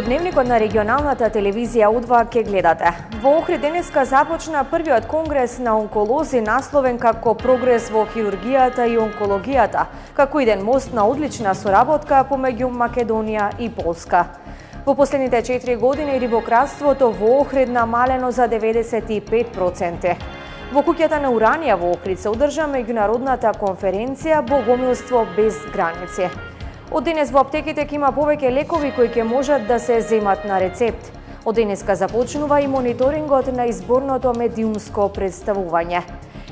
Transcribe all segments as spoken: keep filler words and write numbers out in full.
Во дневникот на регионалната телевизија У два ке гледате. Во Охрид денеска започна првиот конгрес на онколози насловен како прогрес во хирургијата и онкологијата, како иден мост на одлична соработка помеѓу Македонија и Полска. Во последните четири години рибократството во Охрид намалено за деветдесет и пет проценти. Во куќата на Уранија во Охрид се одржа меѓународната конференција Богомилство без граници. Од денес во аптеките ќе има повеќе лекови кои ќе можат да се земат на рецепт. Од денеска започнува и мониторингот на изборното медиумско представување.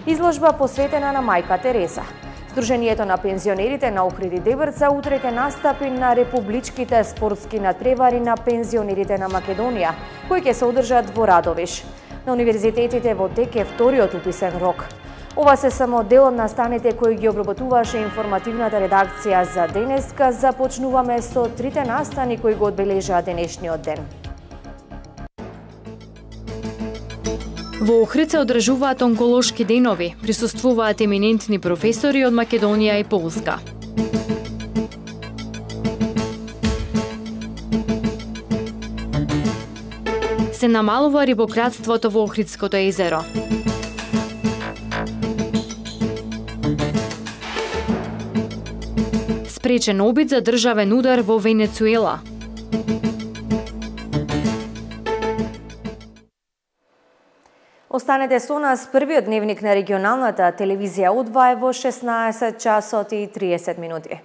Изложба посветена на мајка Тереса. Сдруженијето на пензионерите на Охрид и Дебрца утре ќе настапи на републичките спортски натпревари на пензионерите на Македонија, кои ќе се одржат во Радовиш. На универзитетите во тек е вториот уписен рок. Ова се само дел од настаните кои ги обработуваше информативната редакција за денеска. Започнуваме со трите настани кои го одбележаа денешниот ден. Во Охрид се одржуваат онколошки денови, присуствуваат еминентни професори од Македонија и Полска. Се намалува рибократството во Охридското езеро. Спречен обид за државен удар во Венецуела. Останете со нас, првиот дневник на регионалната телевизија У два е во шеснаесет часот и триесет минути.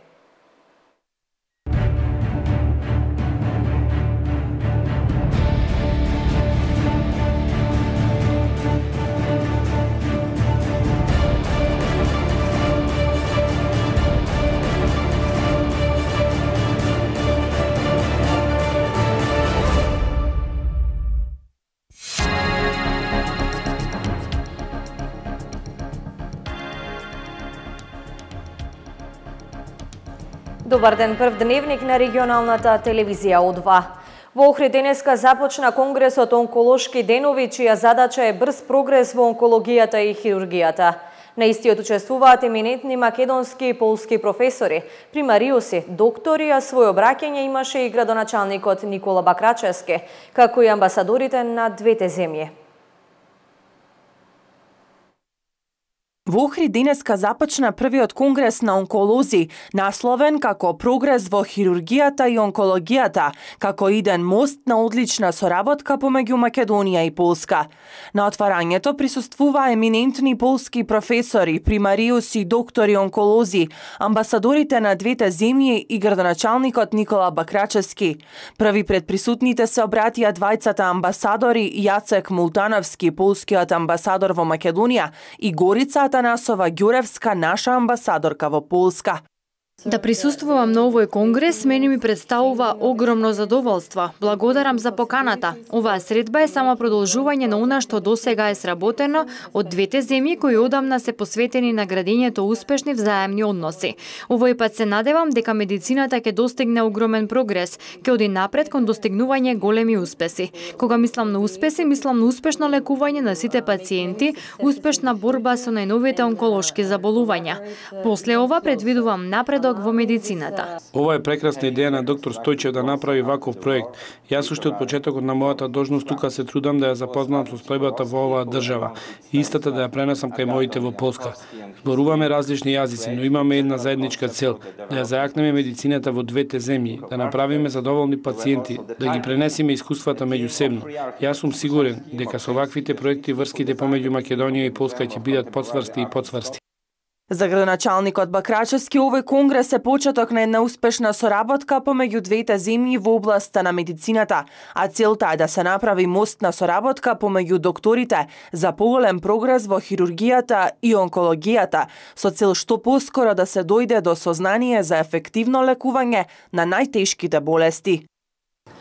Добар ден, прв дневник на регионалната телевизија У два. Во Охрид денеска започна конгресот онколошки денови, чија задача е брз прогрес во онкологијата и хирургијата. На истиот учествуваат еминентни македонски и полски професори, примариуси, доктори, а свој обраќање имаше и градоначалникот Никола Бакрачевски, како и амбасадорите на двете земји. Во Охрид денеска започна првиот конгрес на онколози, насловен како прогрес во хирургијата и онкологијата, како иден мост на одлична соработка помеѓу Македонија и Полска. На отварањето присуствува еминентни полски професори, примариуси, доктори онколози, амбасадорите на двете земји и градоначалникот Никола Бакрачевски. Први пред присутните се обратија двајцата амбасадори Јацек Мултановски, полскиот амбасадор во Македонија, и Горица Танасова Ѓуревска, наша амбасадорка во Полска. Да присуствувам на овој конгрес мене ми представува огромно задоволство. Благодарам за поканата. Оваа средба е само продолжување на она што досега е сработено од двете земји кои одамна се посветени на градењето успешни взаемни односи. Овој пат се надевам дека медицината ќе достигне огромен прогрес, ќе оди напред кон достигнување големи успеси. Кога мислам на успеси, мислам на успешно лекување на сите пациенти, успешна борба со најновите онколошки заболувања. После ова предвидувам напред во медицината. Ова е прекрасна идеја на доктор Стојчев да направи ваков проект. Јас уште од почетокот на мојата должност тука се трудам да ја запознам со стојбата во оваа држава и истата да ја пренесам кај моите во Полска. Зборуваме различни јазици, но имаме една заедничка цел, да ја зајакнеме медицината во двете земји, да направиме задоволни пациенти, да ги пренесиме искуствата меѓусебно. Јас сум сигурен дека со ваквите проекти врските помеѓу Македонија и Полска ќе бидат подсврсти и подсврсти. За градоначалникот Бакрачевски овој конгрес е почеток на една успешна соработка помеѓу двете земји во областа на медицината, а целта е да се направи мост на соработка помеѓу докторите за поголем прогрес во хирургијата и онкологијата, со цел што поскоро да се дојде до сознание за ефективно лекување на најтешките болести.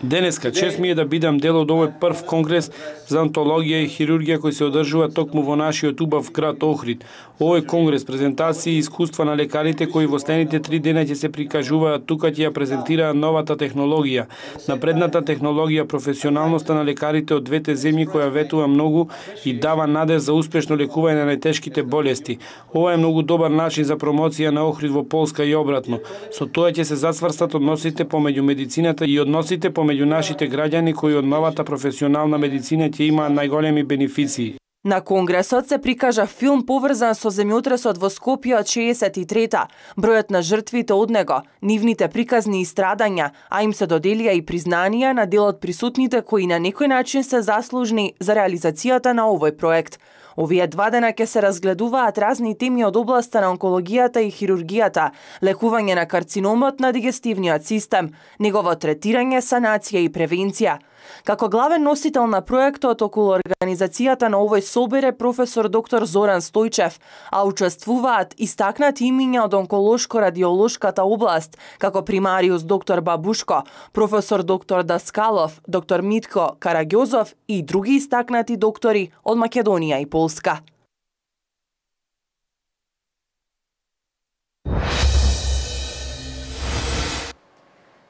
Денеска чест ми е да бидам дел од овој прв конгрес за онтологија и хирургија кој се одржува токму во нашиот убав град Охрид. Овој конгрес, презентации и искуства на лекарите кои во следните три дена ќе се прикажуваат тука ќе ја презентира новата технологија. Напредната технологија, професионалноста на лекарите од двете земји која ветува многу и дава надеж за успешно лекување на најтешките болести. Ова е многу добар начин за промоција на Охрид во Полска и обратно. Со тоа ќе се зацврстат односите помеѓу медицината и односите помеѓу нашите граѓани кои од новата професионална медицина ќе имаат најголеми бенефиции. На конгресот се прикажа филм поврзан со земјотресот во Скопје од шеесет и трета, бројот на жртвите од него, нивните приказни и страдања, а им се доделија и признанија на дел од присутните кои на некој начин се заслужни за реализацијата на овој проект. Овие два дена ќе се разгледуваат разни теми од областа на онкологијата и хирургијата, лекување на карциномот на дигестивниот систем, негово третирање, санација и превенција. Како главен носител на проектот околу организацијата на овој собир е професор доктор Зоран Стојчев, а учествуваат истакнати имиња од онколошко-радиолошката област, како примариус доктор Бабушко, професор доктор Даскалов, доктор Митко Караѓозов и други истакнати доктори од Македонија и Полска.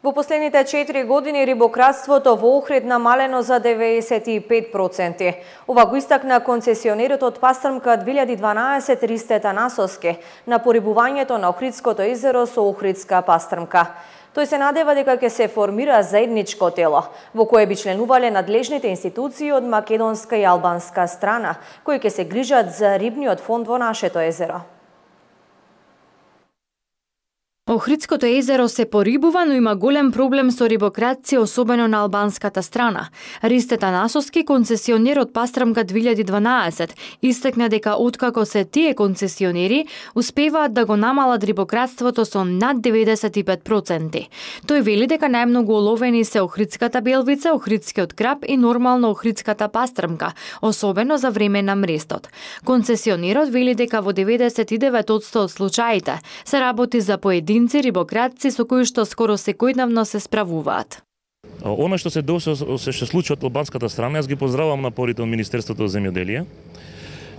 Во последните четири години рибократството во Охрид намалено за деветдесет и пет проценти. Ова го истакна концесионерот од Пастрмка две илјади и дванаесет Ристе Танасовски на порибувањето на Охридското езеро со Охридска пастрмка. Тој се надева дека ќе се формира заедничко тело, во кое би членувале надлежните институции од македонска и албанска страна, кои ќе се грижат за рибниот фонд во нашето езеро. Охридското езеро се порибува, но има голем проблем со рибократција, особено на албанската страна. Ристе Танасовски, концесионер од Пастрмка две илјади и дванаесет, истакна дека откако се тие концесионери, успеваат да го намалат рибократството со над деветдесет и пет проценти. Тој вели дека најмногу оловени се охридската белвица, охридскиот краб и нормално охридската пастрмка, особено за време на мрестот. Концесионерот вели дека во деветдесет и девет одсто од случаите се работи за поединци рибократци со кои што скоро секојдневно се справуваат. Она што се досе се што случи од албанската страна, јас ги поздравувам напорите од Министерството за земјоделие.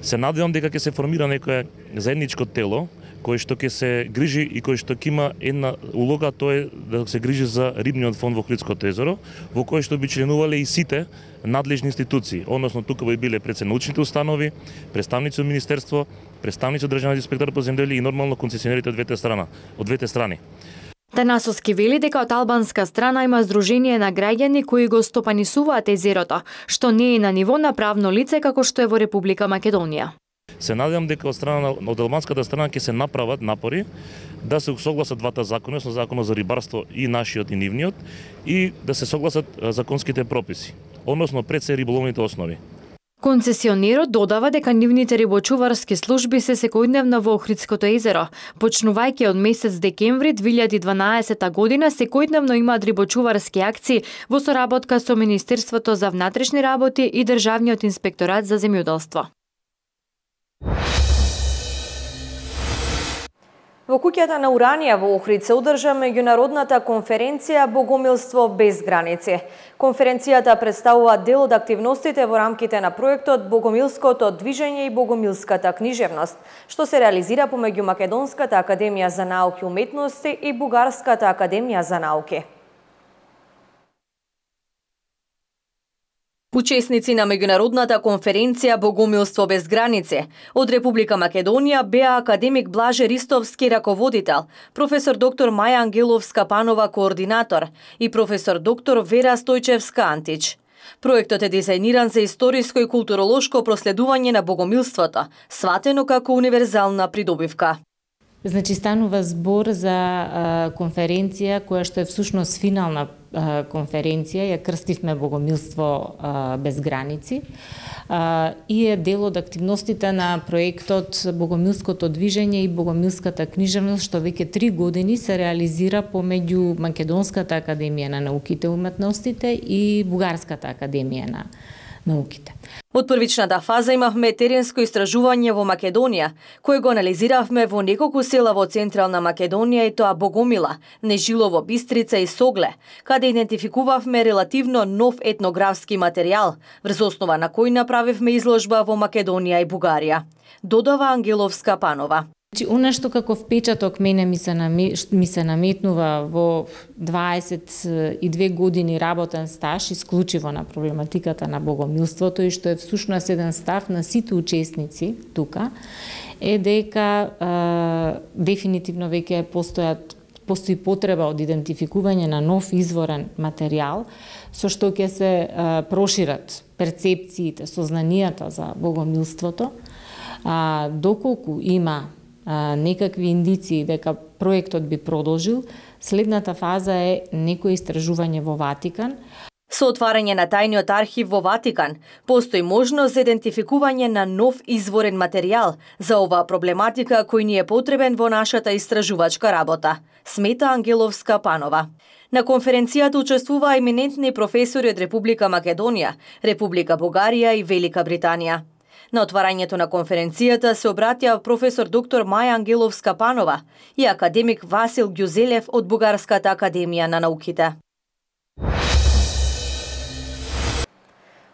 Се надевам дека ќе се формира некое заедничко тело кој што ќе се грижи и кој што ќе има една улога, тоа е да се грижи за рибниот фонд во Охридското езеро, во кој што би членувале и сите надлежни институции, односно тука би биле председничните установи, представници од Министерство, представници од Државниот инспекторат по земјоделие и нормално концесионерите од двете страна, од двете страни. Танасовски вели дека од албанска страна има здружение на граѓани кои го стопанисуваат езерото, што не е на ниво на правно лице како што е во Република Македонија. Се надевам дека од страна од албанската страна ќе се направат напори да се согласат двата закони, со законот за рибарство и нашиот и нивниот, и да се согласат законските прописи, односно пред се риболовните основи. Концесионерот додава дека нивните рибочуварски служби се секојдневно во Охридското езеро. Почнувајќи од месец декември две илјади и дванаесета година, секојдневно имаат рибочуварски акции во соработка со Министерството за внатрешни работи и Државниот инспекторат за земјоделство. Во куќата на Уранија во Охрид се одржа меѓународната конференција Богомилство без граници. Конференцијата представува дел од активностите во рамките на проектот Богомилското движење и Богомилската книжевност, што се реализира помеѓу Македонската академија за науки и уметности и Бугарската академија за науки. Учесници на меѓународната конференција Богомилство без граници од Република Македонија беа академик Блаже Ристовски раководител, професор доктор Маја Ангеловска-Панова координатор и професор доктор Вера Стојчевска-Антич. Проектот е дизајниран за историско и културолошко проследување на богомилството, сватено како универзална придобивка. Значи станува збор за а, конференција која што е всушност финална а, конференција, ја крстивме Богомилство а, без граници а, и е дел од активностите на проектот Богомилското движење и Богомилската книжевност, што веќе три години се реализира помеѓу Македонската академија на науките и уметностите и Бугарската академија на науките. Од првичната фаза имавме теренско истражување во Македонија, кое го анализиравме во неколку села во Централна Македонија и тоа Богомила, Нежилово, Бистрица и Согле, каде идентификувавме релативно нов етнографски материјал, врз основа на кој направивме изложба во Македонија и Бугарија. Додава Ангеловска-Панова. Значи, она што како впечаток мене ми се, наме, ми се наметнува во дваесет и две години работен стаж исклучиво на проблематиката на богомилството и што е всушност еден став на сите учесници тука, е дека е, дефинитивно веќе постојат постои потреба од идентификување на нов изворен материјал, со што ќе се а, прошират перцепциите, сознанијата за богомилството, а, доколку има а, некакви индиции дека проектот би продолжил, следната фаза е некое истражување во Ватикан. Со отварање на тајниот архив во Ватикан, постои можност за идентификување на нов изворен материјал за оваа проблематика кој ни е потребен во нашата истражувачка работа, смета Ангеловска Панова. На конференцијата учествуваа еминентни професори од Република Македонија, Република Бугарија и Велика Британија. На отварањето на конференцијата се обратија професор доктор Маја Ангеловска Панова и академик Васил Ѓузелев од Бугарската академија на науките.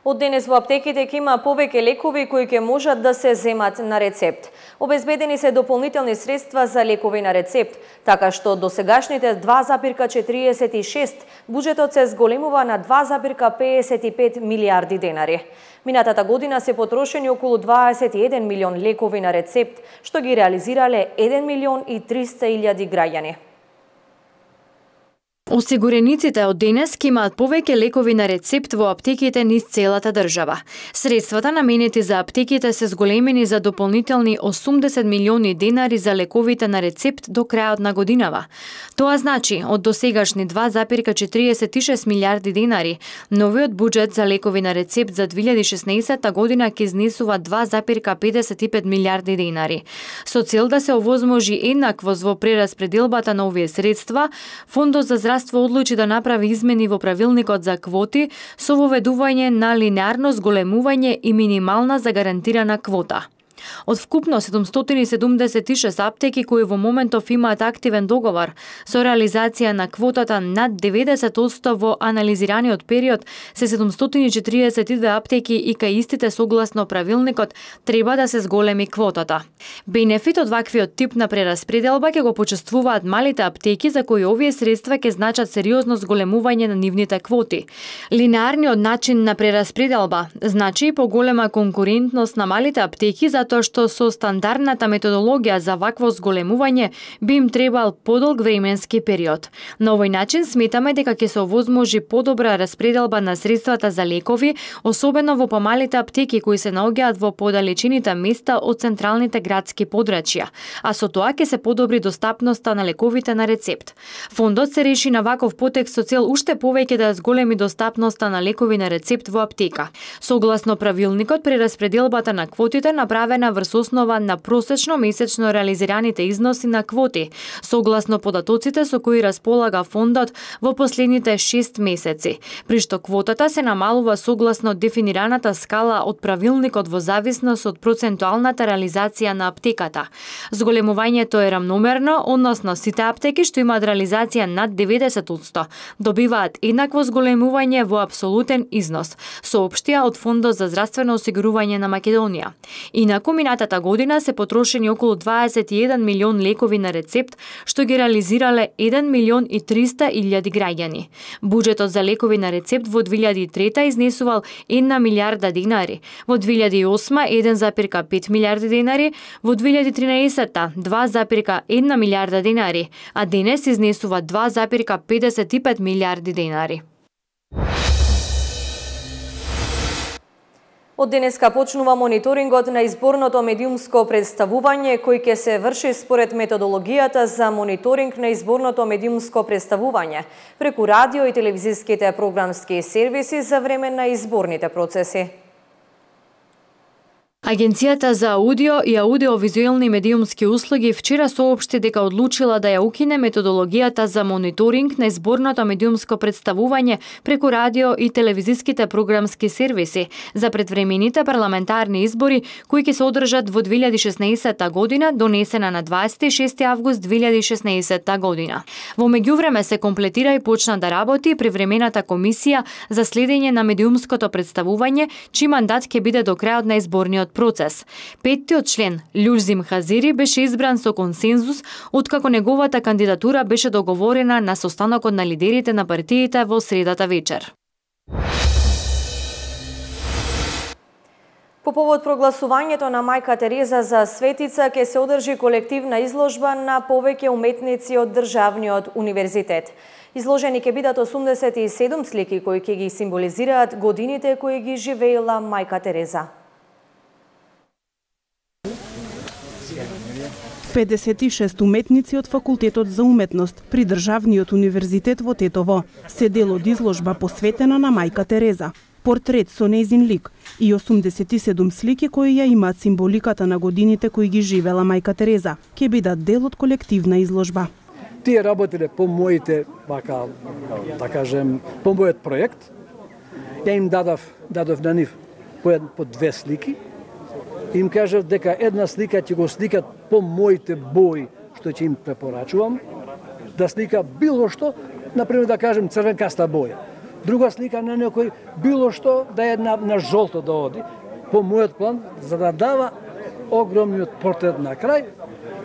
Од денес во аптеките ќе има повеќе лекови кои ќе можат да се земат на рецепт. Обезбедени се дополнителни средства за лекови на рецепт, така што до сегашните два запирка четириесет и шест буџетот се зголемува на два запирка педесет и пет милијарди денари. Минатата година се потрошени околу дваесет и еден милион лекови на рецепт, што ги реализирале еден милион и триста илјади граѓани. Осигурениците од денес ќе имаат повеќе лекови на рецепт во аптеките низ целата држава. Средствата наменети за аптеките се зголемени за дополнителни осумдесет милиони денари за лековите на рецепт до крајот на годинава. Тоа значи, од досегашни два запирка четириесет и шест милијарди денари, новиот буџет за лекови на рецепт за две илјади и шеснаесетта година ќе изнесува два запирка педесет и пет милијарди денари. Со цел да се овозможи еднаквост во прераспределбата на овие средства, Фондот за здравство одлучи да направи измени во правилникот за квоти со воведување на линеарно зголемување и минимална загарантирана квота. Од вкупно седумстотини и седумдесет и шест аптеки кои во моментов имаат активен договор со реализација на квотата над деветдесет одсто во анализираниот период, се седумстотини и четириесет и две аптеки и кај истите согласно правилникот треба да се зголеми квотата. Бенефит од ваквиот тип на прераспределба ќе го почувствуваат малите аптеки за кои овие средства ќе значат сериозно зголемување на нивните квоти. Линеарниот начин на прераспределба значи и поголема конкурентност на малите аптеки за тоа што со стандардната методологија за вакво зголемување би им требал подолг временски период. На овој начин сметаме дека ќе се овозможи подобра распределба на средствата за лекови, особено во помалите аптеки кои се наоѓаат во подалечените места од централните градски подрачја, а со тоа ќе се подобри достапноста на лековите на рецепт. Фондот се реши на ваков потек со цел уште повеќе да зголеми достапноста на лекови на рецепт во аптека. Согласно правилникот, прераспределбата на квотите направена врз основа на просечно месечно реализираните износи на квоти, согласно податоците со кои располага фондот во последните шест месеци, при што квотата се намалува согласно дефинираната скала од правилникот во зависност од процентуалната реализација на аптеката. Зголемувањето е рамномерно, односно сите аптеки што имаат реализација над деветдесет одсто добиваат еднакво зголемување во апсолутен износ, соопштија од Фондот за здравствено осигурување на Македонија. Инаку минатата година се потрошени околу дваесет и еден милион лекови на рецепт, што ги реализирале еден милион и триста илјади граѓани. Буџетот за лекови на рецепт во две илјади и трета изнесувал една милијарда денари, во две илјади и осма еден запирка пет милијарди денари, во две илјади и тринаесетта два запирка една милијарда денари, а денес изнесува два запирка педесет и пет милијарди денари. Од денеска почнува мониторингот на изборното медиумско представување кој ќе се врши според методологијата за мониторинг на изборното медиумско представување преку радио и телевизиските програмски сервиси за време на изборните процеси. Агенцијата за аудио и аудиовизуелни медиумски услуги вчера соопшти дека одлучила да ја укине методологијата за мониторинг на изборното медиумско представување преку радио и телевизиските програмски сервиси за предвремените парламентарни избори кои ќе се одржат во две илјади и шеснаесетта година, донесена на дваесет и шести август две илјади и шеснаесетта година. Во меѓувреме се комплетира и почна да работи привремената комисија за следење на медиумското представување, чиј мандат ќе биде до крајот на изборниот процес. Петтиот член, Љузим Хазири, беше избран со консензус, откако неговата кандидатура беше договорена на состанокот на лидерите на партиите во средата вечер. По повод прогласувањето на мајка Тереза за светица ќе се одржи колективна изложба на повеќе уметници од државниот универзитет. Изложени ќе бидат осумдесет и седум слики кои ќе ги символизираат годините кои ги живеела мајка Тереза. педесет и шест уметници од Факултетот за уметност при Државниот универзитет во Тетово се дел од изложба посветена на мајка Тереза. Портрет со нејзин лик и осумдесет и седум слики кои ја имаат символиката на годините кои ги живела мајка Тереза ќе бидат дел од колективна изложба. Тие работеле по моите, вака, да кажем, по мојот проект. Ја им дадов, дадов на нив по, по две слики. Им кажав дека една слика ќе го сликат по моите бои, што ќе им препорачувам, да слика било што, например да кажем црвенкаста боја. Друга слика на некој било што да е на, на жолто да оди, по мојот план, за да дава огромниот портрет на крај,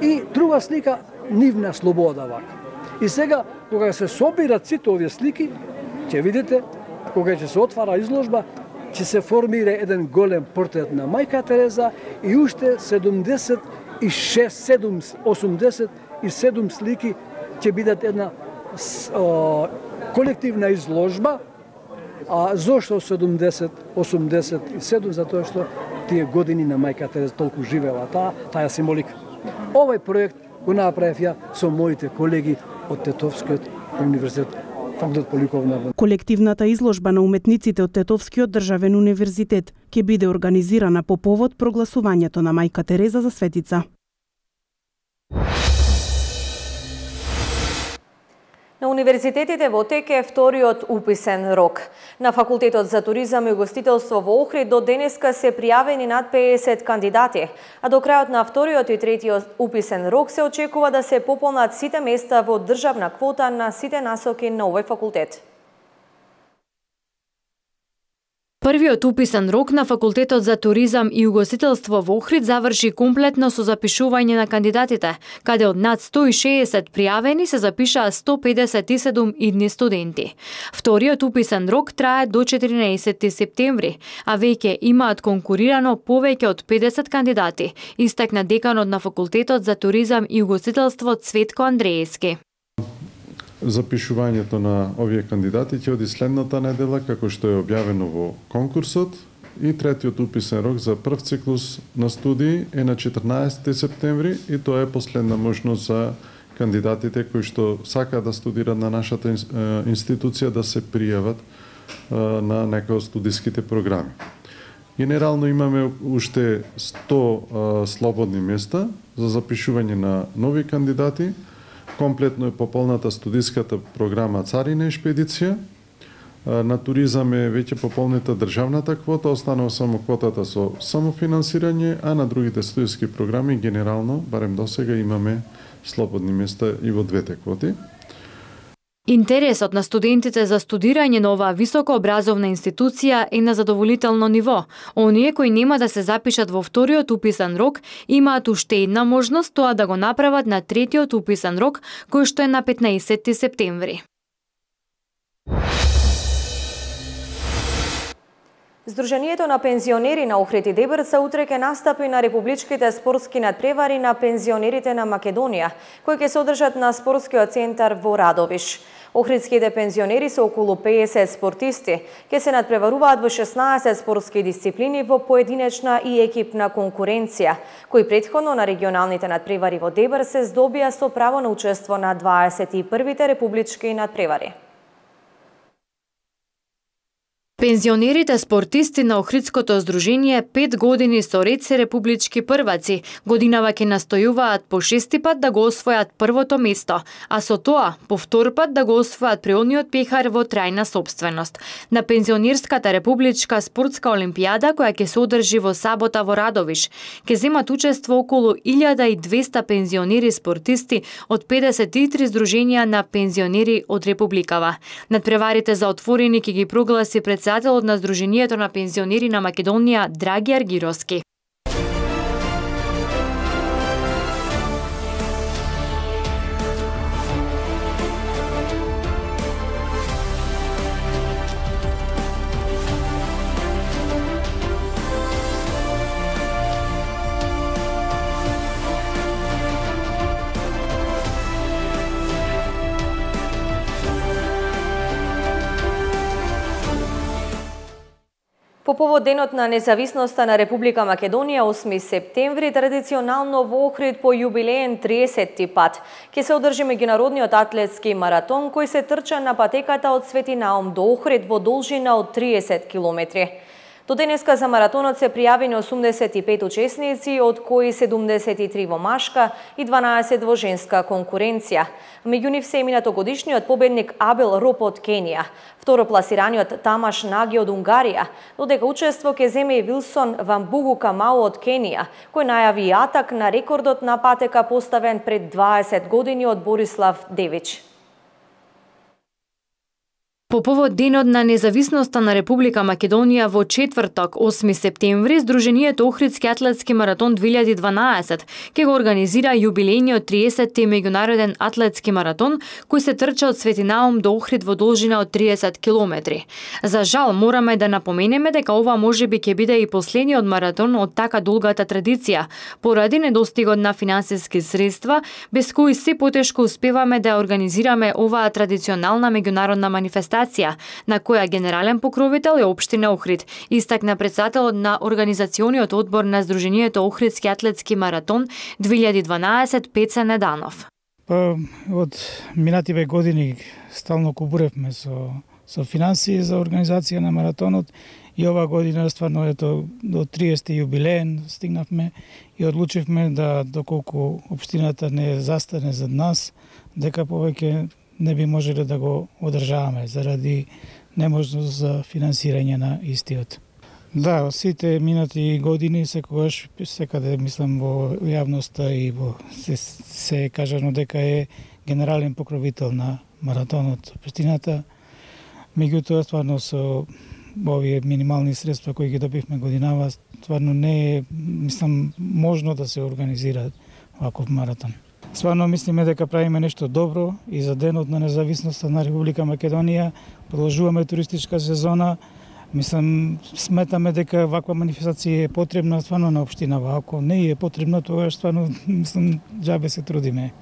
и друга слика нивна слобода вака. И сега, кога се собират сите овие слики, ќе видите, кога ќе се отвара изложба, ќе се формира еден голем портрет на мајка Тереза и уште седумдесет и шест, осумдесет и седум слики ќе бидат една о, колективна изложба. А зошто седумдесет, осумдесет и седум? Затоа што тие години на мајка Тереза толку живела таа, таа символика. Овој проект го направив ја со моите колеги од Тетовскиот универзитет. Колективната изложба на уметниците од Тетовскиот државен универзитет ќе биде организирана по повод прогласувањето на мајка Тереза за светица. На универзитетите во тек е вториот уписен рок. На Факултетот за туризам и угостителство во Охрид до денеска се пријавени над педесет кандидати, а до крајот на вториот и третиот уписен рок се очекува да се пополнат сите места во државна квота на сите насоки на овој факултет. Првиот уписен рок на Факултетот за туризам и угостителство во Охрид заврши комплетно со запишување на кандидатите, каде од над сто и шеесет пријавени се запишаа сто педесет и седум идни студенти. Вториот уписен рок трае до четиринаесетти септември, а веќе имаат конкурирано повеќе од педесет кандидати, истакна деканот на Факултетот за туризам и угостителство Цветко Андреевски. Запишувањето на овие кандидати ќе оди следната недела, како што е објавено во конкурсот, и третиот уписен рок за прв циклус на студии е на четрнаесетти септември и тоа е последна можност за кандидатите кои што сакаат да студираат на нашата институција да се пријават на некој од студиските програми. Генерално имаме уште сто слободни места за запишување на нови кандидати. Комплетно е пополната студиската програма Царина и шпедиција. На туризам е веќе пополнета државната квота, останува само квотата со самофинансирање, а на другите студиски програми генерално, барем досега, имаме слободни места и во двете квоти. Интересот на студентите за студирање на оваа високообразовна институција е на задоволително ниво. Оние кои нема да се запишат во вториот уписен рок имаат уште една можност тоа да го направат на третиот уписен рок, кој што е на петнаесетти септември. Сдруженијето на пензионери на Охрид и Дебрца утре ќе настапи на републичките спортски надпревари на пензионерите на Македонија, кои ќе се одржат на спортскиот центар во Радовиш. Охридските пензионери со околу педесет спортисти ќе се надпреваруваат во шеснаесет спортски дисциплини во поединечна и екипна конкуренција, кои претходно на регионалните надпревари во Дебар се здобија со право на учество на дваесет и првите републички надпревари. Пензионерите спортисти на Охридското здружение пет години со ред се републички прваци. Годинава ќе настојуваат по шести пат да го освојат првото место, а со тоа по втор пат да го освојат преодниот пехар во трајна собственост. На пензионерската републичка спортска олимпијада, која ќе се одржи во сабота во Радовиш, ќе земат учество околу илјада и двесте пензионери спортисти од педесет и три здруженија на пензионери од републикава. Надпреварите за отворени ќе ги прогласи председателот на Сдруженијето на пензионери на Македонија Драги Аргировски. По повод денот на независноста на Република Македонија, осми септември, традиционално во Охрид по јубилеен триесетти пат ќе се одржи меѓународниот атлетски маратон кој се трча на патеката од Свети Наум до Охрид во должина од триесет километри. До денеска за маратонот се пријавени осумдесет и пет учесници, од кои седумдесет и три во машка и дванаесет во женска конкуренција. Меѓу нив се минатогодишниот победник Абел Роп од Кенија, второпласираниот Тамаш Наги од Унгарија, додека учество ќе земе и Вилсон Вамбугу Камау од Кенија, кој најави атак на рекордот на патека поставен пред дваесет години од Борислав Девич. По повод денот на независноста на Република Македонија во четврток, осми септември, Сдруженијето Охридски атлетски маратон две илјади и дванаесет ќе го организира јубилејниот триесетти меѓународен атлетски маратон кој се трча од Свети Наум до Охрид во должина од триесет километри. За жал, мораме да напоменеме дека ова можеби ќе биде и последниот маратон од така долгата традиција, поради недостигот на финансиски средства, без кои се потешко успеваме да организираме оваа традиционална меѓународна манифестација, на која генерален покровител е општина Охрид, истакна председателот на организациониот одбор на Сдруженијето Охридски атлетски маратон две илјади и дванаесет Пеца Неданов. Па, од минативе години стално кубуревме со, со финансии за организација на маратонот и ова година стварно ето до триесетти јубилеен стигнавме и одлучивме да доколку општината не застане зад нас, дека повеќе не би можеле да го одржаваме заради неможност за финансирање на истиот. Да, сите минати години секогаш секаде мислам во јавноста и во се, се кажано дека е генерален покровител на маратонот општината. Меѓутоа стварно со овие минимални средства кои ги добивме годинава, стварно не е мислам можно да се организира ваков маратон. Стварно мислиме дека правиме нешто добро и за денот на независноста на Република Македонија, продолжуваме туристичка сезона. Мислам, сметаме дека ваква манифестација е потребна стварно на општинава. Ако не е потребна, тогаш стварно мислам џабе се трудиме.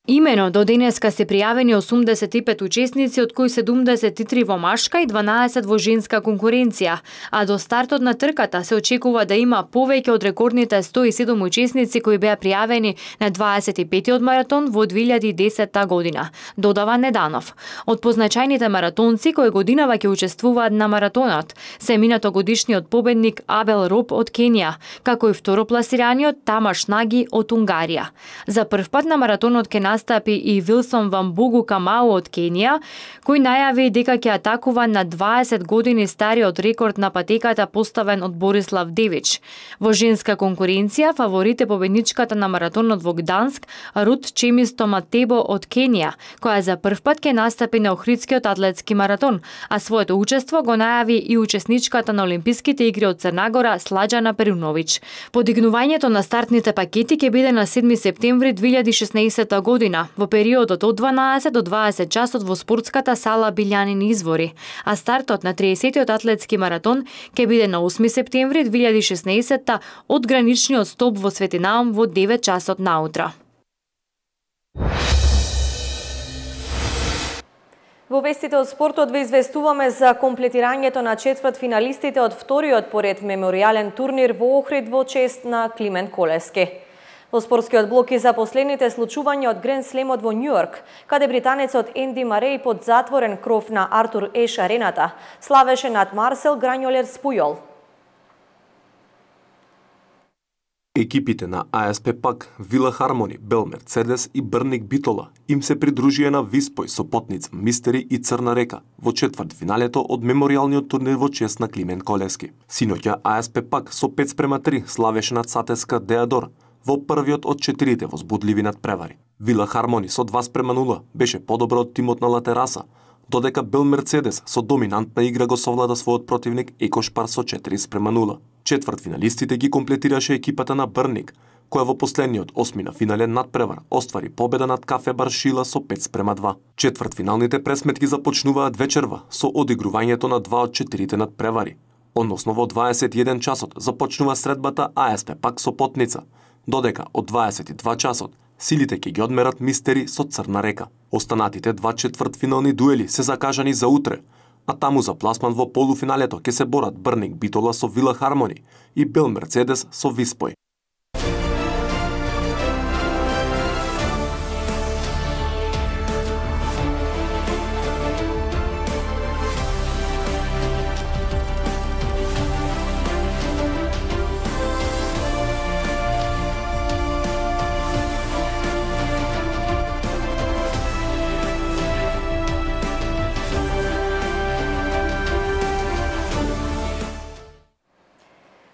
Имено до денеска се пријавени осумдесет и пет учесници, од кои седумдесет и три во машка и дванаесет во женска конкуренција, а до стартот на трката се очекува да има повеќе од рекордните сто и седум учесници кои беа пријавени на дваесет и петтиот маратон во две илјади и десетта година, додава Неданов. Од позначајните маратонци кои годинава ќе учествуваат на маратонот се минатогодишниот победник Абел Роп од Кенија, како и второпласираниот Тамаш Наги од Унгарија. За прв пат на маратонот ќе настапи и Вилсон Вамбугу Камау од Кенија, кој најави дека ќе атакува на дваесет години стариот рекорд на патеката поставен од Борислав Девич. Во женска конкуренција фаворит е победничката на маратонот во Гданск Рут Чемисто Матебо од Кенија, која за прв пат ќе настапи на Охридскиот атлетски маратон, а своето учество го најави и учесничката на Олимписките игри од Црнагора Сладжана Перуновиќ. Подигнувањето на стартните пакети ќе биде на седми септември две илјади и шеснаесетта година во периодот од дванаесет до дваесет часот во спортската сала Билјанин извори, а стартот на триесеттиот атлетски маратон ќе биде на осми септември две илјади и шеснаесетта од граничниот столб во Свети Наум во девет часот наутро. Во вестите од спортот ве известуваме за комплетирањето на четврт финалистите од вториот поред меморијален турнир во Охрид во чест на Климент Колевски. Во спортскиот блок и за последните случувања од Гранд Слемот во Њујорк, каде британецот Енди Марей под затворен кров на Артур Еш арената славеше над Марсел Грањолер Спујол. Екипите на А С П Пак, Вила Хармони, Бел Мерцедес и Брник Битола им се придружија на Виспој, Сопотница, Мистери и Црна река во четврт финалето од меморијалниот турнир во чест на Климент Колевски. Синоќа А С П Пак со пет спрема три славеше над Сатеска Деадор во првиот од четирите возбудливи надпревари. Вила Хармони со два спрема нула беше подобро од тимот на Латераса, додека Бел Мерцедес со доминантна игра го совлада својот противник Екошпар со четири спрема нула. Четврт финалистите ги комплетираше екипата на Брник, која во последниот осми на финален надпревар оствари победа над Кафе Баршила со пет спрема два. Четврт финалните пресметки започнуваат вечерва со одигрувањето на два од четирите надпревари. Односно во дваесет и еден часот започнува средбата А С П Пак Сопотница, додека од дваесет и два часот силите ќе ги одмерат Мистери со Црна река. Останатите два четвртфинални дуели се закажани за утре, а таму за пласман во полуфиналето ќе се борат Брник Битола со Вила Хармони и Бел Мерцедес со Виспој.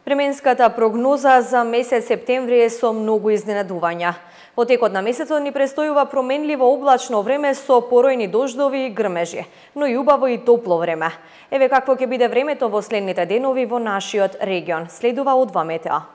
Временската прогноза за месец септември е со многу изненадувања. Во текот на месецот ни престојува променливо облачно време со поројни дождови и грмежи, но и убаво и топло време. Еве какво ќе биде времето во следните денови во нашиот регион. Следува од два метеа.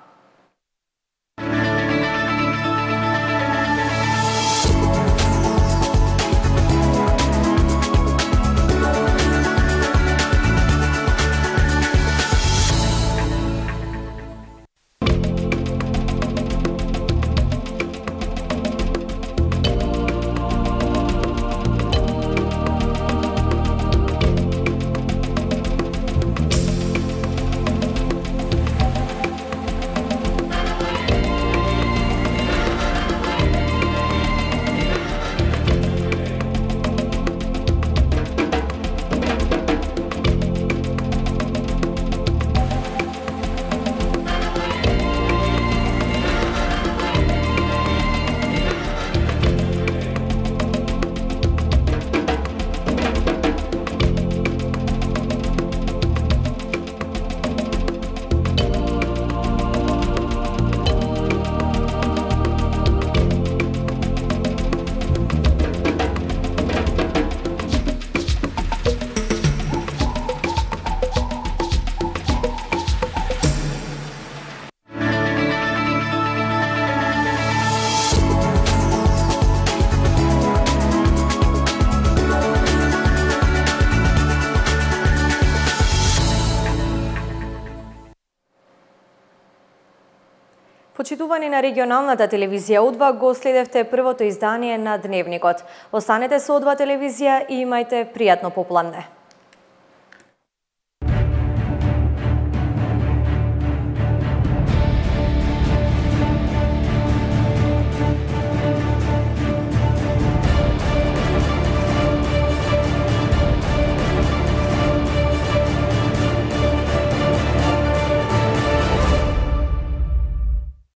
Почитувани на регионалната телевизија О два, го следевте првото издание на Дневникот. Останете со О два телевизија и имајте пријатно попладне.